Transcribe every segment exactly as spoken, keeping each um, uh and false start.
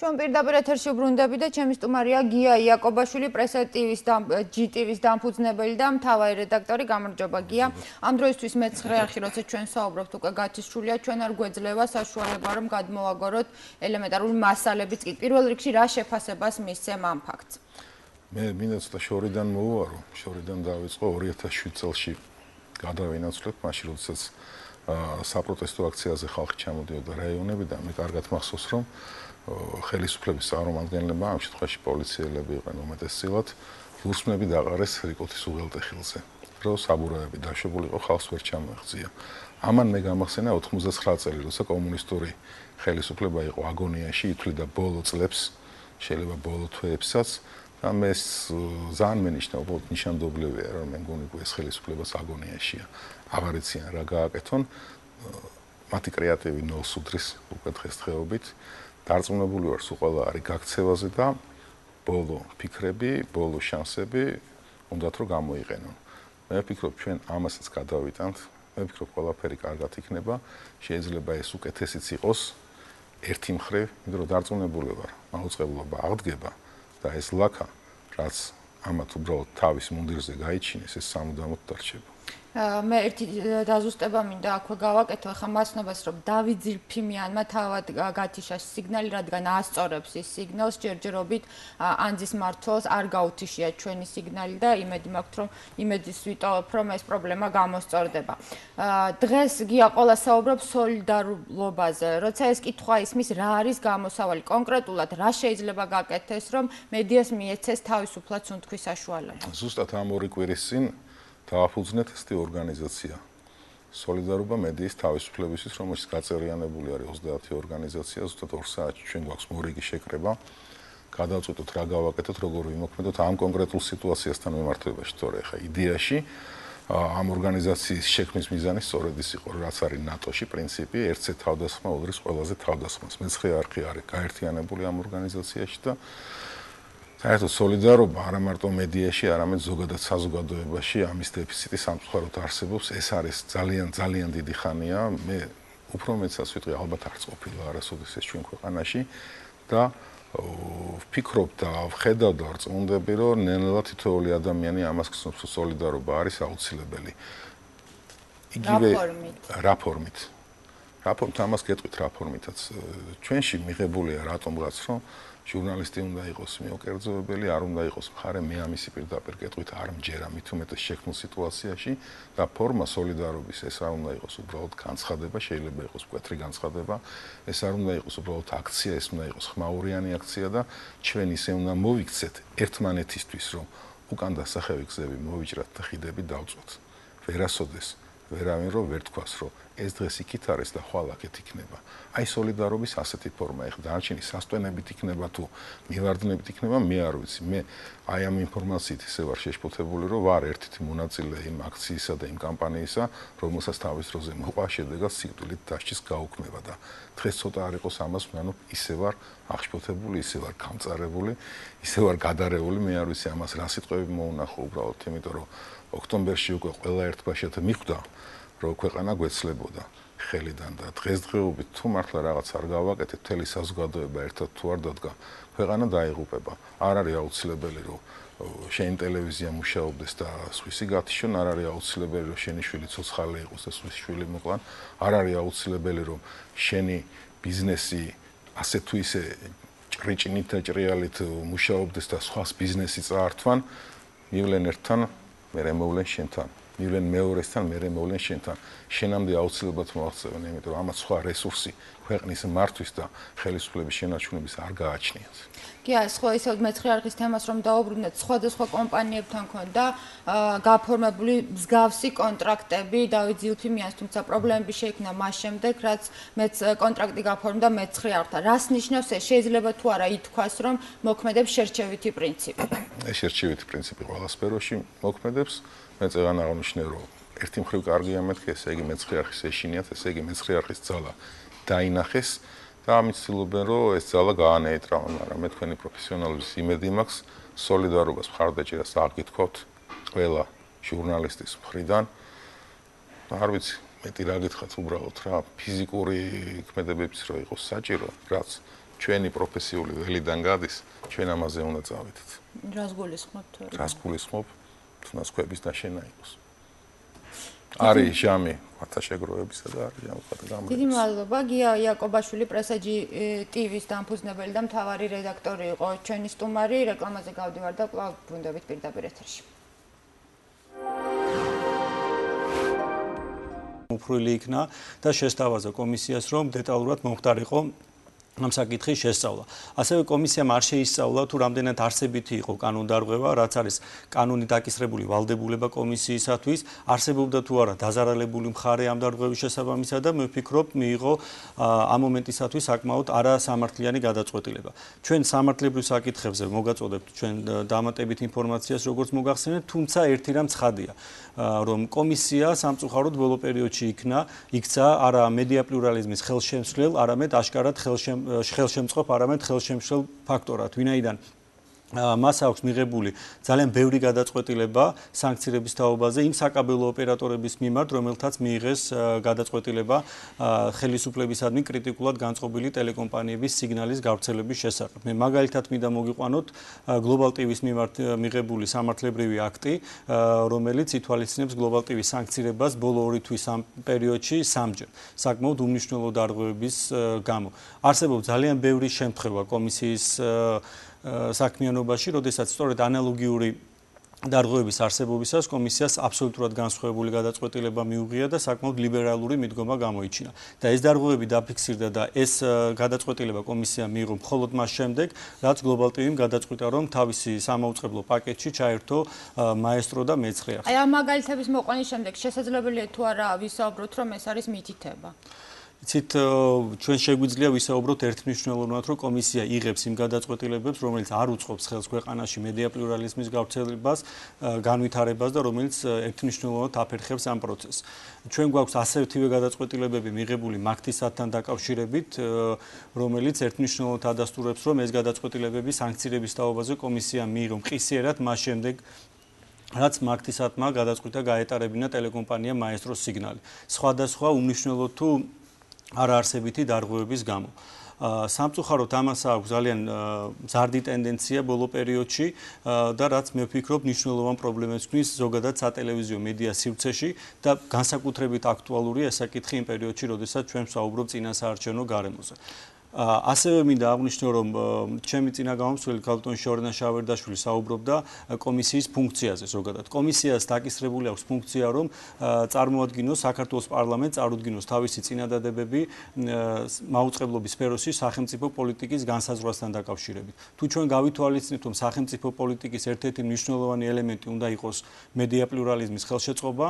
ჩვენ პირდაპირ ეთერში ვბრუნდები და ჩემი სტუმარია გია იაკობაშვილი, პრესა ტივის და ჯი ტივის დამფუძნებელი და მთავარი რედაქტორი. გამარჯობა გია. ამ დროისთვის მეცხრე არხი, როცა ჩვენ საუბრობთ, უკვე გათიშრულია, ჩვენ არ გვეძლევა საშუალება, რომ გადმოვაგოროთ ელემენტარული მასალებიც კი. პირველ რიგში რა შეფასებას მისცემ ამ ფაქტს? მე მინდა ცოტა შორიდან მოვუარო, შორიდან დავიწყო ორი ათას შვიდ წელს გადავინაცვლებ, მაშინ როდესაც საპროტესტო აქციაზე ხალხი ჩამოდიოდა რაიონებიდან, მე კარგად მახსოვს, რომ ხელისუფლების წარმომადგენლებმა, ამ შემთხვევაში პოლიციელები იყვნენ უმეტესწილად, ლურსმნები დაყარეს რიკოთის უღელტეხილზე, რომ საბურავები დაშვებული იყო, ხალხს ვერ ჩამოეღწია. ამან მე გამახსენა ოთხმოცდაცხრა წელი, როცა კომუნისტური ხელისუფლება იყო აგონიაში, ითვლიდა ბოლო წლებს, შეიძლება ბოლო თვეებსაც, და მე ძალიან მენიშნა, უბრალოდ ნიშანდობლივია, რომ მე მგონი ეს ხელისუფლებას აგონიაშია. აღარ იციან რა გააკეთონ, მათი კრეატივი ნოლს უდრის უკვე დღესდღეობით. დარწმუნებული ვარ, სულ ყველა არის გაქცევაზე და ბოლო ფიქრები, ბოლო შანსები უნდათ რომ გამოიყენონ. მე ვფიქრობ, ჩვენ ამასაც გადავიტანთ. მე ვფიქრობ, ყველაფერი კარგად იქნება. შეიძლება ეს უკეთესიც იყოს ერთი მხრივ, იმიტომ რომ დარწმუნებული ვარ, მაუწყებლობა აღდგება და ეს ლაქა, რაც ამათ უბრალოდ თავის მუნდირზე გაიჩინეს, ეს სამუდამოდ დარჩება. მე ერთი დაზუსტება მინდა აქვე გავაკეთო, ახლა მასნობას რომ დავით ზილფიმიანმა თავად გათიშა სიგნალი, რადგან ასწორებს ის სიგნალს, ჯერჯერობით ანძის მმართველს არ გაუთიშია ჩვენი სიგნალი და იმედი მაქვს, რომ იმედის ვიტოვებ, რომ ეს პრობლემა გამოსწორდება. დღეს გია ყველა საუბრობს სოლიდარობაზე, როცა ეს კითხვა ისმის, რა არის გამოსავალი, კონკრეტულად რა შეიძლება გაკეთდეს, რომ მედიას მიეცეს თავისუფლად სუნთქვის საშუალება. ზუსტად ამ ორი კვირის წინ დააფუძნეთ ესეთი ორგანიზაცია სოლიდარობა მედიის თავისუფლებისთვის, რომელშიც გაწევრიანებული არის ოცდაათი ორგანიზაცია, ზუსტად ორ საათში ჩვენ გვაქვს მორიგი შეკრება, გადავწყვიტოთ რა გავაკეთოთ, როგორ ვიმოქმედოთ ამ კონკრეტულ სიტუაციასთან მიმართებაში, თორე ხა იდეაში ამ ორგანიზაციის შექმნის მიზანი სწორედ ის იყო, რაც არის ნატოში პრინციპი, ერთზე თავდასხმა უდრის ყველაზე თავდასხმას. მეცხრე არხი არის გაერთიანებული ამ ორგანიზაციაში და საერთოდ სოლიდარობა არა მარტო მედიაში, არამედ ზოგადად საზოგადოებაში ამის დეფიციტი სამწუხაროდ არსებობს. ეს არის ძალიან ძალიან დიდი ხანია. მე უფრო მეცაც ვიტყვი, ალბათ არც ყოფილა არასოდეს ეს ჩვენ ქვეყანაში და ვფიქრობ და ვხედავ და ვწმუნდები, რომ ნელ-ნელა თითოეული ადამიანი ამას გრძნობს, რომ სოლიდარობა არის აუცილებელი. იგივე რა ფორმით? რა ფორმით ამას გეტყვით რა ფორმითაც. ჩვენში მიღებულია რატომღაც, რომ ჟურნალისტი უნდა იყოს მიოკერძოებელი, არ უნდა იყოს მხარე, მე ამისი პირდაპირ გეტყვით არ მჯერა, მით უმეტეს შექმნილ სიტუაციაში და ფორმა სოლიდარობის ეს არ უნდა იყოს უბრალოდ განცხადება, შეიძლება იყოს მკვეთრი განცხადება, ეს არ უნდა იყოს უბრალოდ აქცია, ეს უნდა იყოს ხმაურიანი აქცია და ჩვენ ისე უნდა მოვიქცეთ ერთმანეთისთვის, რომ უკან დასახევი გზები მოვიჭრათ და ხიდები დავწვოთ. ვერასოდეს ვერავინ რომ ვერ თქვას, რომ ეს დღეს იქით არის და ხვალ აქეთ იქნება. აი სოლიდარობის ასეთი ფორმა, ეხლა დანარჩენი სასტვენებით იქნება თუ მივარდნებით იქნება, მე არ ვიცი. მე აი ამ ინფორმაციით ისე ვარ შეშფოთებული, რომ ვარ ერთ-ერთი მონაწილე იმ აქციისა და იმ კამპანიისა, რომელსაც თავის დროზე მოყვა შედეგად სიკვდილით დასჯის გაუქმება და დღეს ცოტა არ იყოს ამას ვანობ, ისე ვარ აღშფოთებული, ისე ვარ გამწარებული, ისე ვარ გადარეული, მე არ ვიცი ამას რა სიტყვები მოუნახო უბრალოდ, იმიტომ რომ ოქტომბერში უკვე ყველა ერთბაშად მიხვდა, რომ ქვეყანა გვეცლებოდა ხელიდან და დღესდღეობით თუ მართლა რაღაც არ გავაკეთეთ, მთელი საზოგადოება ერთად თუ არ დადგა, ქვეყანა დაიღუპება. არ არის აუცილებელი, რომ შენი ტელევიზია მუშაობდეს და სხვისი გათიშონ, არ არის აუცილებელი, რომ შენი შვილი ცოცხალი იყოს და სხვისი შვილი მოკლან, არ არის აუცილებელი, რომ შენი ბიზნესი ასე თუ ისე ჭრიჭინით და ჭრიალით მუშაობდეს და სხვას ბიზნესი წაართვან, მივლენ ერთთან, მერე მოვლენ შენთან. მივლენ მეორესთან, მერე მოვლენ შენთან. შენამდე აუცილებლად მოაღწევენ, იმიტომ რომ ამათ სხვა რესურსი ქვეყნის მართვის და ხელისუფლების შენარჩუნების არ გააჩნიათ. კი, სხვა ისევ მეცხრე არხის თემას რომ დაუბრუნდეთ, სხვადასხვა კომპანიებთან ქონდა გაფორმებული მსგავსი კონტრაქტები დავით ზილფიმიანს, თუმცა პრობლემები შეიქმნა მას შემდეგ, რაც მეც კონტრაქტი გაფორმდა მეცხრე არხთან. რას ნიშნავს ეს? შეიძლება თუ არა ითქვას, რომ მოქმედებს შერჩევითი პრინციპი. ეს შერჩევითი პრინციპი ყველა სფეროში მოქმედებს. მე წეგან აღნიშნე, რომ ერთი მხრივ კარგია მეთქე, ესე იგი მეცხრე არხის ეშინიათ, ესე იგი მეცხრე არხის ძალა დაინახეს და ამით ცდილობენ, რომ ეს ძალა გაანეიტრალონ, მაგრამ მე თქვენი პროფესიონალების იმედი მაქვს, სოლიდარობას მხარდაჭერას აღგითხოვთ ყველა ჟურნალისტის მხრიდან. არ ვიცი, მეტი რა გითხრათ უბრალოდ რა, ფიზიკური ქმედებებიც რო იყოს საჭირო, რაც ჩვენი პროფესიული ველიდან გადის, ჩვენ ამაზე უნდა წავიდეთ. რას გულისხმობთ? რას გულისხმობ? თუნდაც ქვების დაშენა იყოს. არის ჟამი ფათაშეგროებისა და არის ჟამი ფათაგამრეცი. დიდი მადლობა. გია იაკობაშვილი პრესაჯი ტივის დამფუძნებელი და მთავარი რედაქტორი იყო ჩვენი სტუმარი. რეკლამაზე გავდივარ და კვლავ ბრუნდებით პირდაპირ ეთერში. უფრული იქნა და შესთავაზა კომისიას, რომ დეტალურად მომხდარიყო ამ საკითხის შესწავლა. ასევე კომისიამ არ შეისწავლა თუ რამდენად არსებითი იყო კანონდარღვევა, რაც არის კანონით აკისრებული ვალდებულება კომისიისათვის, არსებობდა თუ არა დაზარალებული მხარე ამ დარღვევის შესაბამისად და მე ვფიქრობ, მიიღო ამ მომენტისათვის საკმაოდ არასამართლიანი გადაწყვეტილება. ჩვენ სამართლებრივ საკითხებზე მოგაწოდებთ ჩვენ დამატებით ინფორმაციას, როგორც მოგახსენებთ, თუმცა ერთი რამ ცხადია, რომ კომისია სამწუხაროდ ბოლო პერიოდში იქნა, იქცა არა მედია პლურალიზმის ხელშემსვლელ, არამედ აშკარად ხელშემ ხელშემწყობ არამედ ხელშემშლელ ფაქტორად, ვინაიდან მას აქვს მიღებული ძალიან ბევრი გადაწყვეტილება სანქციების თაობაზე იმ საკაბელო ოპერატორების მიმართ, რომელთაც მიიღეს გადაწყვეტილება ხელისუფლებისადმი კრიტიკულად განწყობილი ტელეკომპანიების სიგნალის გავრცელების შესახებ. მე მაგალითად მინდა მოგიყვანოთ Global ტივის მიმართ მიღებული სამართლებრივი აქტი, რომელიც ითვალისწინებს Global ტივის სანქციებას ბოლო ორი თვის ამ პერიოდში სამჯერ, საკმაოდ უმნიშვნელო დარღვევების გამო. არსებობს ძალიან ბევრი შემთხვევა კომისიის საქმიანობაში, როდესაც სწორედ ანალოგიური დარღვევების არსებობისას კომისიას აბსოლუტურად განსხვავებული გადაწყვეტილება მიუღია და საკმაოდ ლიბერალური მიდგომა გამოიჩინა. და ეს დარღვევები დაფიქსირდა და ეს გადაწყვეტილება კომისიამ მიიღო მხოლოდ მას შემდეგ, რაც Global ტივიმ გადაწყვიტა, რომ თავისი სამაუწყებლო პაკეტში ჩაერთო მაესტრო და მეცხრე. აი ამ მაგალითების მოყვანის შემდეგ შესაძლებელია თუ არა ვისაუბროთ, რომ ეს არის მითითება? იცით, ჩვენ შეგვიძლია ვისაუბროთ ერთმნიშვნელოვნად, რომ კომისია იღებს იმ გადაწყვეტილებებს, რომელიც არ უწყობს ხელს ქვეყანაში მედია პლურალიზმის გავრცელებას, განვითარებას და რომელიც ერთმნიშვნელოვნად აფერხებს ამ პროცესს. ჩვენ გვაქვს ასეთივე გადაწყვეტილებები მიღებული მაგთისათთან დაკავშირებით, რომელიც ერთმნიშვნელოვნად ადასტურებს, რომ ეს გადაწყვეტილებები სანქციების თაობაზე კომისიამ მიიღო მყისიერად მას შემდეგ რაც მაგთისათმა გადაწყვიტა გაეტარებინა ტელეკომპანია მაესტროს სიგნალი. სხვადასხვა უმნიშვნელო თუ არაარსებითი დარღვევების გამო. სამწუხაროდ ამას აქვს ძალიან მზარდი ტენდენცია ბოლო პერიოდში და რაც მე ვფიქრობ მნიშვნელოვან პრობლემებს ქმნის ზოგადად სატელევიზიო მედია სივრცეში და განსაკუთრებით აქტუალურია ეს საკითხი იმ პერიოდში, როდესაც ჩვენ ვსაუბრობ წინასაარჩევნო გარემოზე. ასევე მინდა აღვნიშნო, რომ ჩემი წინა გამომცველი ქალბატონი შორენა შავერდაშვილი საუბრობდა კომისიის ფუნქციაზე ზოგადად. კომისიას დაკისრებული აქვს ფუნქცია, რომ წარმოადგინოს საქართველოს პარლამენტს, წარუდგინოს თავისი წინადადებები მაუწყებლობის სფეროში სახელმწიფო პოლიტიკის განსაზღვრასთან დაკავშირებით. თუ ჩვენ გავითვალისწინებთ, რომ სახელმწიფო პოლიტიკის ერთ-ერთი მნიშვნელოვანი ელემენტი უნდა იყოს მედია პლურალიზმის ხელშეწყობა,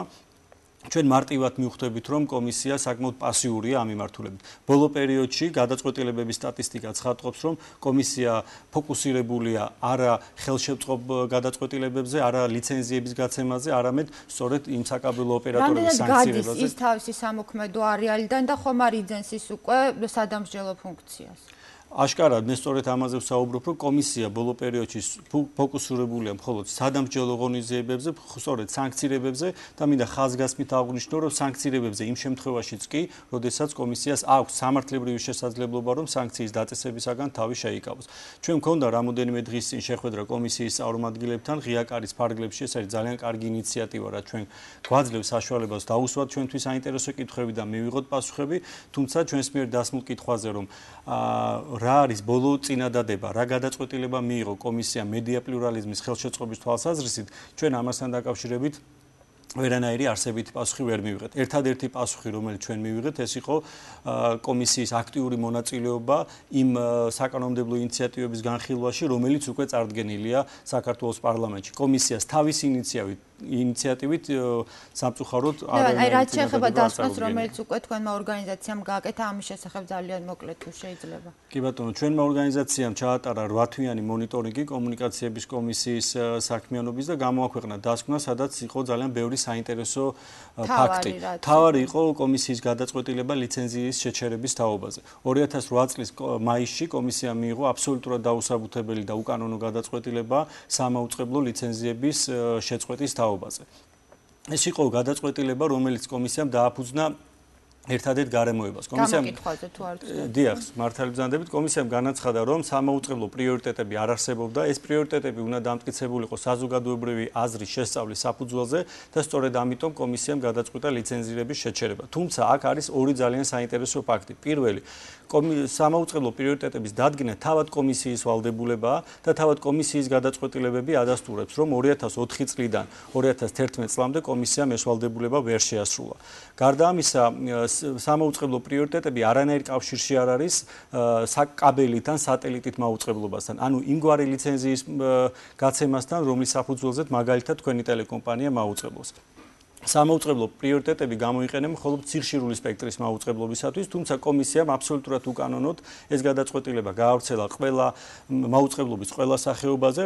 ჩვენ მარტივად მივხვდებით, რომ კომისია საკმაოდ პასიურია ამ მიმართულებით. ბოლო პერიოდში გადაწყვეტილებების სტატისტიკა ცხადყოფს, რომ კომისია ფოკუსირებულია არა ხელშემწყობ გადაწყვეტილებებზე, არა ლიცენზიების გაცემაზე, არამედ სწორედ იმ საკაბელო ოპერატორების სანქციებაზე. რამდენად გადის ის თავისი სამოქმედო არეალიდან და ხომ არ იძენს ის უკვე სადამსჯელო ფუნქციას? აშკარად, მე სწორედ ამაზე ვსაუბრობ, რომ კომისია ბოლო პერიოდში ფოკუსირებულია მხოლოდ სადამსჯელო ღონისძიებებზე, სწორედ სანქციებებზე და მინდა ხაზგასმით აღვნიშნო, რომ სანქციებებზე იმ შემთხვევაშიც კი, როდესაც კომისიას აქვს სამართლებრივი შესაძლებლობა, რომ სანქციის დაწესებისაგან თავი შეიკავოს. ჩვენ მქონდა რამოდენიმე დღის წინ შეხვედრა კომისიის წარმომადგენლებთან ღია კარის ფარგლებში, ეს არის ძალიან კარგი ინიციატივა, რაც ჩვენ გვაძლევს საშუალებას დაუსვათ ჩვენთვის საინტერესო კითხვები და მივიღოთ პასუხები, თუმცა ჩვენს მიერ დასმულ კითხვაზე, რომ რა არის ბოლო წინადადება, რა გადაწყვეტილება მიიღო კომისია მედია პლურალიზმის ხელშეწყობის თვალსაზრისით, ჩვენ ამასთან დაკავშირებით ვერანაირი არსებითი პასუხი ვერ მივიღეთ. ერთადერთი პასუხი, რომელიც ჩვენ მივიღეთ, ეს იყო კომისიის აქტიური მონაწილეობა იმ საკანონმდებლო ინიციატივების განხილვაში, რომელიც უკვე წარდგენილია საქართველოს პარლამენტში. კომისიას თავისი ინიციატივით ინიციატივით სამწუხაროდ არ აი რაც შეეხება დასკვნას, რომელიც უკვე თქვენმა ორგანიზაციამ გააკეთა, ამის შესახებ ძალიან მოკლედ თუ შეიძლება. კი ბატონო, ჩვენმა ორგანიზაციამ ჩაატარა რვა თვიანი მონიტორინგი კომუნიკაციების კომისიის საქმიანობის და გამოაქვეყნა დასკვნა, სადაც იყო ძალიან ბევრი საინტერესო ფაქტი. თავარი იყო კომისიის გადაწყვეტილება ლიცენზიის შეჩერების თაობაზე. ორი ათას რვა წლის მაისში კომისიამ მიიღო აბსოლუტურად დაუსაბუთებელი და უკანონო გადაწყვეტილება სამაუწყებლო ლიცენზიების შეწყვეტის თაობაზე. ეს იყო გადაწყვეტილება, რომელიც კომისიამ დააფუძნა ერთადერთ გარემოებას. კომისიამ გამოკითხვაზე თუ არ ვცდები. დიახ, მართალი ბრძანდებით, კომისიამ განაცხადა, რომ სამაუწყებლო პრიორიტეტები არ არსებობდა, ეს პრიორიტეტები უნდა დამტკიცებულიყო საზოგადოებრივი აზრის შესწავლის საფუძველზე და სწორედ ამიტომ კომისიამ გადაწყვიტა ლიცენზირების შეჩერება. თუმცა აქ არის ორი ძალიან საინტერესო ფაქტი. პირველი, სამაუწყებლო პრიორიტეტების დადგენა თავად კომისიის ვალდებულებაა და თავად კომისიის გადაწყვეტილებები ადასტურებს, რომ ორი ათას ოთხი წლიდან ორი ათას თერთმეტ წლამდე კომისიამ ეს ვალდებულება ვერ შეასრულა. გარდა ამისა, სამაუწყებლო პრიორიტეტები არანაირ კავშირში არ არის საკაბელით ან სატელიტით მაუწყებლობასთან. ანუ იმგვარი ლიცენზიის გაცემასთან, რომლის საფუძველზეც მაგალითად თქვენი ტელეკომპანია მაუწყებლობს. სამაუწყებლო პრიორიტეტები გამოიყენება მხოლოდ ციხშირული სპექტრის მაუწყებლობისათვის, თუმცა კომისიამ აბსოლუტურად უკანონოდ ეს გადაწყვეტილება გაავრცელა ყველა მაუწყებლობის ყველა სახეობაზე,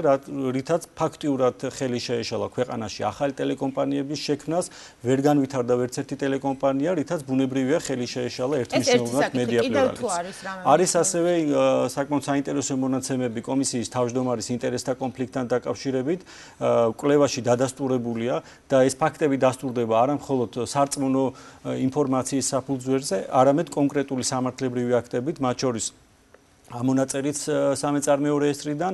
რითაც ფაქტიურად ხელი შეეშალა ქვეყანაში ახალი ტელეკომპანიების შექმნას, ვერ განვითარდა ვერც ერთი ტელეკომპანია, რითაც ბუნებრივია ხელი შეეშალა ერთმნიშვნელოვნად მედია პლურალიზმს. არის ასევე საკმაოდ საინტერესო მონაცემები კომისიის თავმჯდომარის ინტერესთა კონფლიქტთან დაკავშირებით, კვლევაში დადასტურებულია და ეს ფაქტები დასტურდება არა მხოლოდ სარწმუნო ინფორმაციის საფუძველზე, არამედ კონკრეტული სამართლებრივი აქტებით, მათ შორის ამონაწერიც სამეწარმეო რეესტრიდან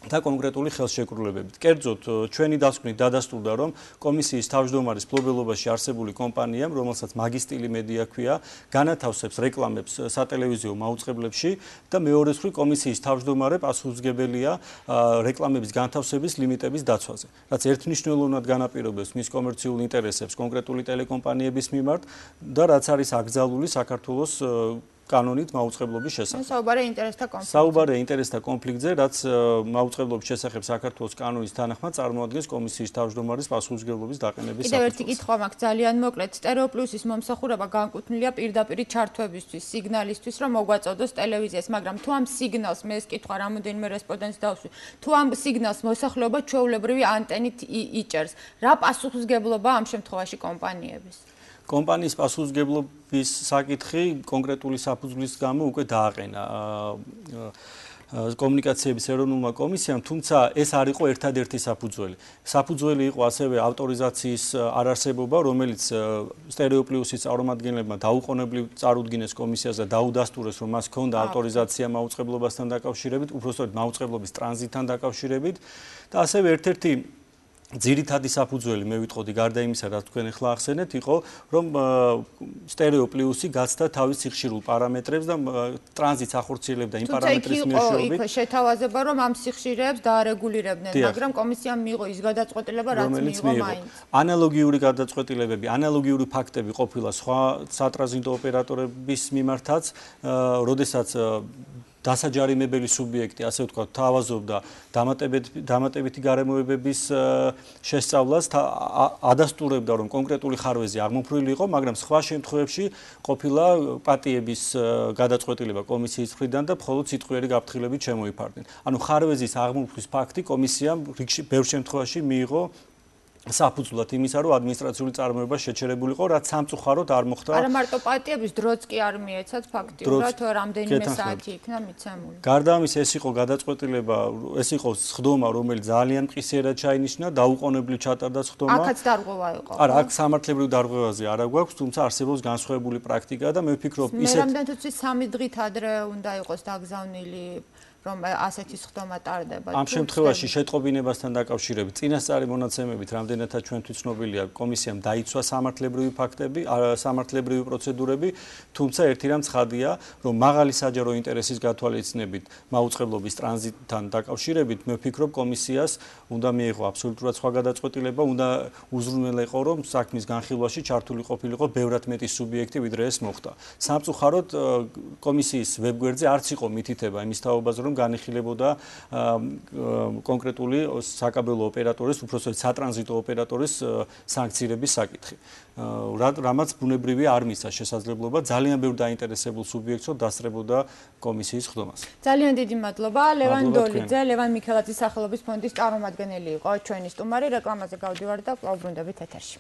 და კონკრეტული ხელშეკრულებებით. კერძოდ, ჩვენი დასკვნით დადასტურდა, რომ კომისიის თავმჯდომარის მფლობელობაში არსებული კომპანიამ, რომელსაც მაგისტილი მედია ჰქვია, განათავსებს რეკლამებს სატელევიზიო მაუწყებლებში და მეორე მხრივ კომისიის თავმჯდომარე პასუხისმგებელია რეკლამების განთავსების ლიმიტების დაცვაზე, რაც ერთმნიშვნელოვნად განაპირობებს მის კომერციულ ინტერესებს კონკრეტული ტელეკომპანიების მიმართ და რაც არის აკრძალული საქართველოს კანონით მაუწყებლობის შესახებ. საუბარია ინტერესთა კონფლიქტზე. საუბარია ინტერესთა კონფლიქტზე, რაც მაუწყებლობის შესახებ საქართველოს კანონის თანახმად წარმოადგენს კომისიის თავმჯდომარის პასუხისმგებლობის დაყენების საფუძველს. კიდევ ერთი კითხვა მაქვს ძალიან მოკლედ. სტერეოპლუსის მომსახურება განკუთვნილია პირდაპირი ჩართვებისთვის, სიგნალისთვის, რომ მოგვაწოდოს ტელევიზიას, მაგრამ თუ ამ სიგნალს მე ეს კითხვა რამოდენიმე რესპონდენტს დავსვი, თუ ამ სიგნალს მოსახლეობა ჩვეულებრივი ანტენით იჭერს, რა პასუხისმგებლობა ამ შემთხვევაში კომპანიების? კომპანიის პასუხისმგებლობის საკითხი კონკრეტული საფუძვლის გამო უკვე დააყენა კომუნიკაციების ეროვნულმა კომისიამ, თუმცა ეს არ იყო ერთადერთი საფუძველი. საფუძველი იყო ასევე ავტორიზაციის არარსებობა, რომელიც სტერეოპლუსის წარმომადგენლებმა დაუყოვნებლივ წარუდგინეს კომისიას და დაუდასტურეს, რომ მას ჰქონდა ავტორიზაცია მაუწყებლობასთან დაკავშირებით, უпростоრად მაუწყებლობის ტრანზიტთან დაკავშირებით და ასევე ერთ-ერთი ძირითადი საფუძველი მე ვიტყოდი გარდა იმისა, რაც თქვენ ახლა ახსენეთ, იყო, რომ სტერეოპლუსი გაცდა თავის სიხშირულ პარამეტრებს და ტრანზიტს ახორციელებდა იმ პარამეტრის მეშვეობით. თუმცა იქ იყო შეთავაზება, რომ ამ სიხშირეებს დაარეგულირებდნენ, მაგრამ კომისიამ მიიღო ის გადაწყვეტილება, რაც მიიღო მაინც. ანალოგიური გადაწყვეტილებები, ანალოგიური ფაქტები ყოფილა სხვა სატრანზიტო ოპერატორების მიმართაც, როდესაც დასაჯარიმებელი სუბიექტი, ასე ვთქვათ, თავაზობდა დამატებითი გარემოებების შესწავლას, ადასტურებდა, რომ კონკრეტული ხარვეზი აღმოფრული იყო, მაგრამ სხვა შემთხვევებში ყოფილა პატიების გადაწყვეტილება კომისიის მხრიდან და მხოლოდ სიტყვიერი გაფრთხილებით შემოიფარდნენ. ანუ ხარვეზის აღმოფხვის ფაქტი კომისიამ ბევრ შემთხვევაში მიიღო საფუძვლად იმისა, რომ ადმინისტრაციული წარმოება შეჩერებულიყო, რაც სამწუხაროდ არ მოხდა. არა მარტო პატიების დროც კი არ მიეცათ ფაქტიურად, რამდენიმე საათი იქნა მიცემული. გარდა ამისა, ეს იყო გადაწყვეტილება, ეს იყო სხდომა, რომელიც ძალიან მყისიერად ჩაინიშნა, დაუყოვნებლივ ჩატარდა სხდომა. აქაც დარღვევა იყო. არა, აქ სამართლებრივ დარღვევაზე არა გვაქვს, თუმცა არსებობს განსხვავებული პრაქტიკა და მე ვფიქრობ, ისეთ მე რამდენიც ვიცი სამი დღით ადრე უნდა იყოს დაგზავნილი რომ ასეთი სხდომა ტარდება. ამ შემთხვევაში შეტყობინებასთან დაკავშირებით წინასწარი მონაცემებით რამდენადაც ჩვენთვის ცნობილია, კომისიამ დაიცვა სამართლებრივი ფაქტები, სამართლებრივი პროცედურები, თუმცა ერთი რამ ცხადია, რომ მაღალი საჯარო ინტერესის გათვალისწინებით მაუწყებლობის ტრანზიტთან დაკავშირებით, მე ვფიქრობ, კომისიას უნდა მიიღო აბსოლუტურად სხვა გადაწყვეტილება, უნდა უზრუნველყო, რომ საქმის განხილვაში ჩართული ყოფილიყო ბევრად მეტი სუბიექტი, ვიდრე ეს მოხდა. სამწუხაროდ კომისიის ვებგვერდზე არც იყო მითითება იმის თაობაზე, რომ განიხილებოდა კონკრეტული საკაბელო ოპერატორის, უпростоრად სატრანზიტო ოპერატორის სანქციების საკითხი. რამაც ბუნებრივია არ მისცა შესაძლებლობა ძალიან ბევრ დაინტერესებულ სუბიექტს დასწრებოდა კომისიის სხდომას. ძალიან დიდი მადლობა ლევან დოლიძე, ლევან მიქელაძის სახელობის ფონდის წარმომადგენელი იყო ჩვენი სტუმარი, რეკლამაზე გავდივართ და კვლავ ბრუნდებით ეთერში.